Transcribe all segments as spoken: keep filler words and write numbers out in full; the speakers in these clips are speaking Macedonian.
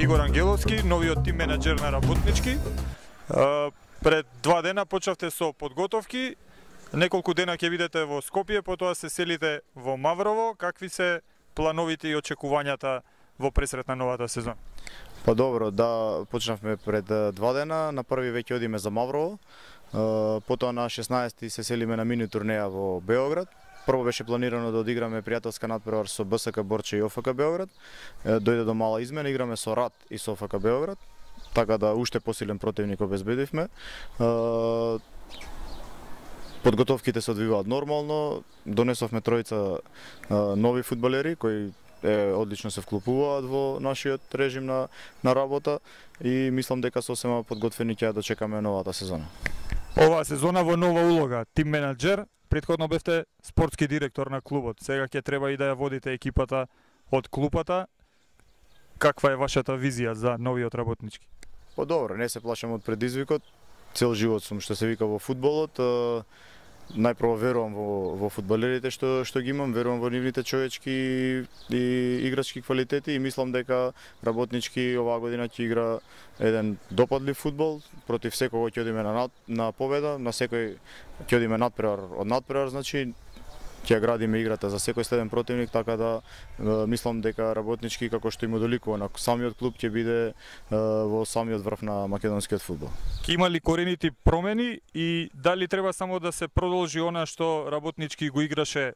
Игор Ангеловски, новиот тим менаџер на Работнички. Пред два дена почнавте со подготовки, неколку дена ќе бидете во Скопје, потоа се селите во Маврово. Какви се плановите и очекувањата во пресрет на новата сезона? Па добро, да, почнавме пред два дена, на први веќе одиме за Маврово, потоа на шеснаести се селиме на мини турнеја во Београд. Прво беше планирано да одиграме пријателска надпревар со БСК Борче и ОФК Београд. Дојде до мала измена, играме со РАД и со ОФК Београд, така да уште посилен противник обезбедивме. Подготовките се одвиваат нормално, донесовме тројца нови фудбалери кои е, одлично се вклопуваат во нашиот режим на, на работа и мислам дека сосема подготвени ќе дочекаме новата сезона. Оваа сезона во нова улога, тим менаџер, претходно бевте спортски директор на клубот, сега ќе треба и да ја водите екипата од клупата. Каква е вашата визија за новиот Работнички? Па добро, не се плашам од предизвикот, цел живот сум што се вика во фудбалот. Најпрво верувам во, во фудбалерите што, што ги имам, верувам во нивните човечки и играчки квалитети и мислам дека Работнички оваа година ќе игра еден допадлив фудбал, против секого ќе одиме на, на победа, на секој ќе одиме надпревар од надпревар, значи ќе градиме играта за секој следен противник, така да е, мислам дека Работнички, како што има доликува на самиот клуб, ќе биде е, во самиот врв на македонскиот фудбал. Ќе има ли коренити промени и дали треба само да се продолжи она што Работнички го играше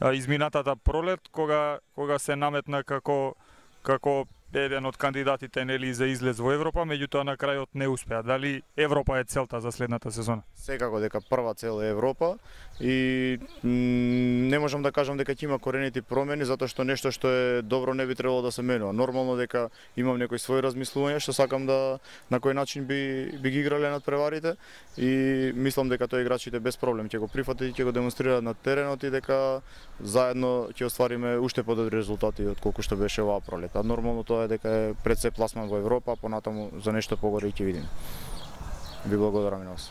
а, изминатата пролет, кога кога се наметна како како еден од кандидатите нели за излез во Европа, меѓутоа на крајот не успеа. Дали Европа е целта за следната сезона? Секако дека прва цел е Европа и не можам да кажам дека ќе има коренити промени, затоа што нешто што е добро не би требало да се менува. Нормално дека имам некои своји размислувања што сакам да на кој начин би би ги играле надпреварите и мислам дека тоа играчите без проблем ќе го прифатат и ќе го демонстрираат на теренот и дека заедно ќе оствариме уште подобри резултати од колку што беше оваа пролет. А нормално тоа е дека е пред се пласман во Европа, понатаму за нешто погоре ќе видиме. Ви благодарам и на вас.